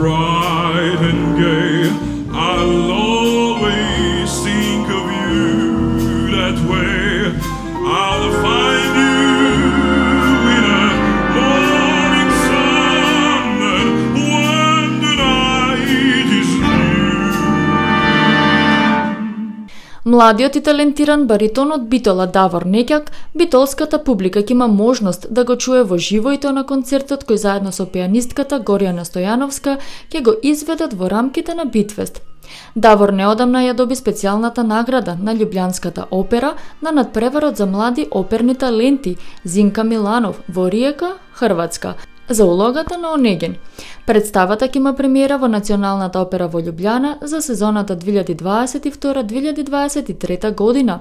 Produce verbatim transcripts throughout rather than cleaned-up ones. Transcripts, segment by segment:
bright and gay. I'll always think of you that way. I'll find you in a morning sun, and when the night is new. Младиот и талентиран баритон од Битола Давор Неќак, битолската публика ќе има можност да го чуе во живо и тоа на концертот кој заедно со пианистката Горјана Стојановска ќе го изведат во рамките на Битфест. Давор неодамна ја доби специјалната награда на Љубљанската опера на надпреварот за млади оперни таленти Зинка Миланов во Риека, Хрватска, за улогата на Онегин. Представата ќе има премиера во Националната опера во Љубљана за сезоната две илјади дваесет и втора - две илјади дваесет и трета година.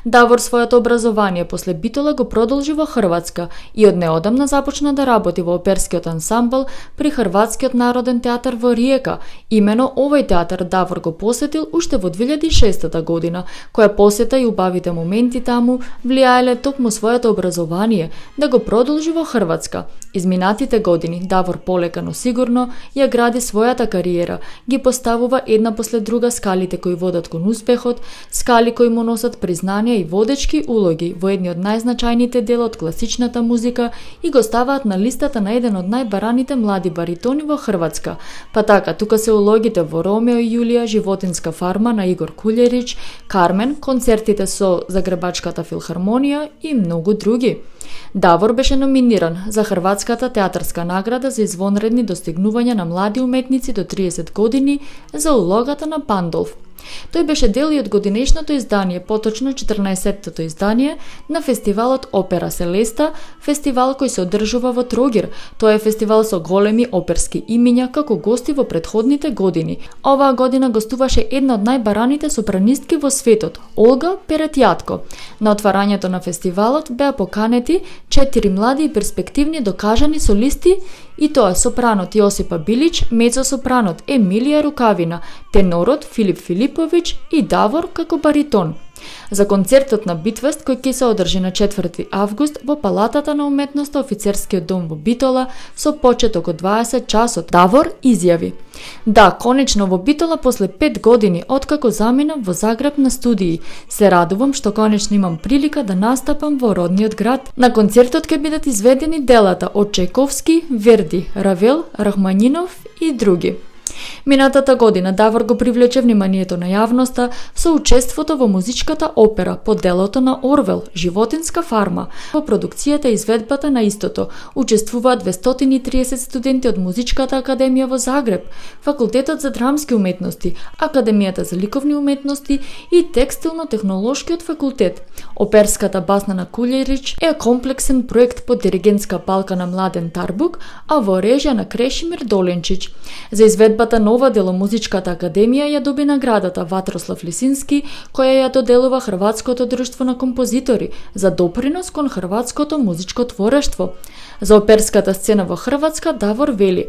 Давор своето образование после Битола го продолжи во Хрватска и од неодамна започна да работи во оперскиот ансамбл при Хрватскиот народен театар во Риека. Имено овој театар Давор го посетил уште во две илјади и шеста година, која посета и убавите моменти таму влијаеле токму своето образование да го продолжи во Хрватска. Изминатите години Давор полека но сигурно ја гради својата кариера, ги поставува една после друга скалите кои водат кон успехот, скали кои му носат признанија и водечки улоги во едни од најзначајните дела од класичната музика и го ставаат на листата на еден од најбараните млади баритони во Хрватска. Па така, тука се улогите во Ромео и Јулија, Животинска фарма на Игор Кулерич, Кармен, концертите со Загребачката филхармонија и многу други. Давор беше номиниран за Хрватската театарска награда за извонредни достигнувања на млади уметници до триесет години за улогата на Пандолф. Тој беше дел и од годинешното издание, поточно четрнаесеттото издание на фестивалот Опера Селеста, фестивал кој се одржува во Трогир. Тоа е фестивал со големи оперски имиња како гости во претходните години. Оваа година гостуваше една од најбараните сопранистки во светот, Олга Перетјатко. На отварањето на фестивалот беа поканети четири млади и перспективни докажани солисти, и тоа сопранот Јосипа Билич, мецо-сопранот Емилија Рукавина, тенорот Филип Филиповиќ и Давор како баритон. За концертот на Битфест кој ќе се одржи на четврти август во Палатата на уметноста Офицерскиот дом во Битола со почеток од дваесет часот, Давор изјави: "Да, конечно во Битола после пет години откако заминав во Загреб на студии, се радувам што конечно имам прилика да настапам во родниот град." На концертот ќе бидат изведени делата од Чајковски, Верди, Равел, Рахманинов и други. Минатата година Давор го привлече вниманието на јавноста со учеството во музичката опера по делото на Орвел, Животинска фарма. Во продукцијата и изведбата на истото учествуваат двестотини и триесет студенти од Музичката академија во Загреб, Факултетот за драмски уметности, Академијата за ликовни уметности и Текстилно-технолошкиот факултет. Оперската басна на Кулерич е комплексен проект под диригентска палка на Младен Тарбук, а во режија на Крешимир Доленчич. За изведбата нова дело Музичката академија ја доби наградата Ватрослав Лисински, која ја доделува Хрватското друштво на композитори за допринос кон хрватското музичко творештво. За оперската сцена во Хрватска Давор вели: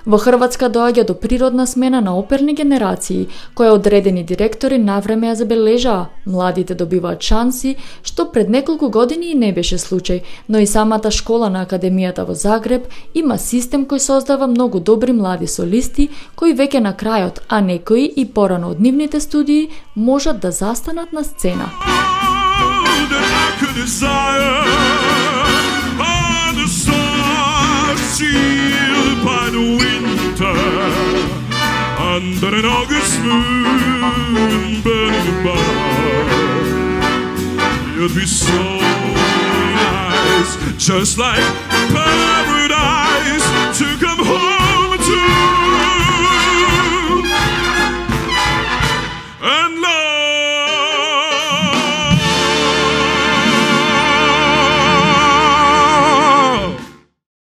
"Во Хрватска доаѓа до природна смена на оперни генерации, која одредени директори навреме ја забележаа. Младите добиваат шанси, што пред неколку години и не беше случај, но и самата школа на Академијата во Загреб има систем кој создава многу добри млади солисти, кои веќе на крајот, а некои и порано од нивните студии, можат да застанат на сцена." Sealed by the winter, under an August moon burning above, you'd be so nice, just like pearls.